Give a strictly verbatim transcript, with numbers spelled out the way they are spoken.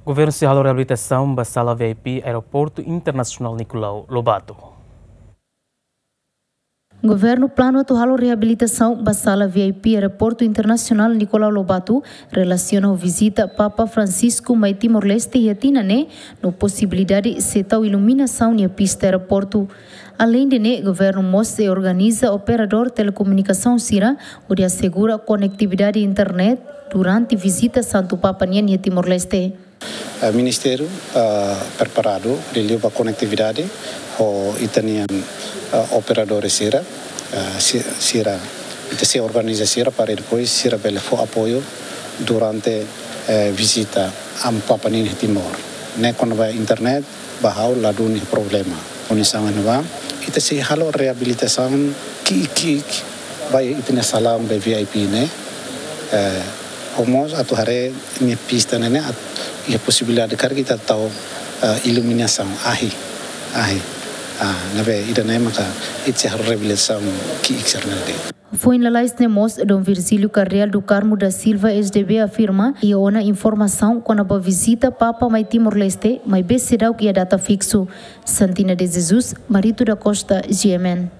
Governu sei halo reabilitasaun ba sala V I P Aeroportu Internasionál Nicolau Lobato. Governu planu atu halo reabilitasaun ba sala V I P Aeroportu Internasionál Nicolau Lobato relasiona ho vizita Papa Francisco mai Timor-Leste iha tinan ne'e, no posibilidade sei tau iluminasaun iha pista aeroportu. Aleinde ne'e, governu mós sei organiza operadór telekomunikasaun sira hodi asegura konektividade internet durante vizita Santu Papa nian iha Timor-Leste. Eh, Ministériu, eh, preparadu liuliu ba konektividade ho ita-nia, eh, operadór sira, eh, si-, sira, ita sei organiza sira para depois sira bele fó apoiu durante, eh, vizita Amu Papa nian iha Timor. Ne'e kona-ba internet, ba ha'u ladún iha problema. Kondisaun ne'ebá, ita sei halo reabilitasaun ki'ik-ki'ik ba ita-nia salaun ba V I P ne'e. Eh, ho mós atu haree nia pista ne'e ne'e atu iha posibilidade karik ita tau, eh, iluminasaun ahi, ahi. Ah, ne'ebé ida-ne'e maka ita sei halo reabilitasaun ki'ik sira-ne'e de'it. Foin lalais ne'e mós, Dom Virgílio Cardeal do Carmo da Silva, S D B, afirma iha ona informasaun kona-ba vizita Papa mai Timor-Leste, maibé seidauk iha data fiksu. Santina de Jesus, Marito da Costa, G M N.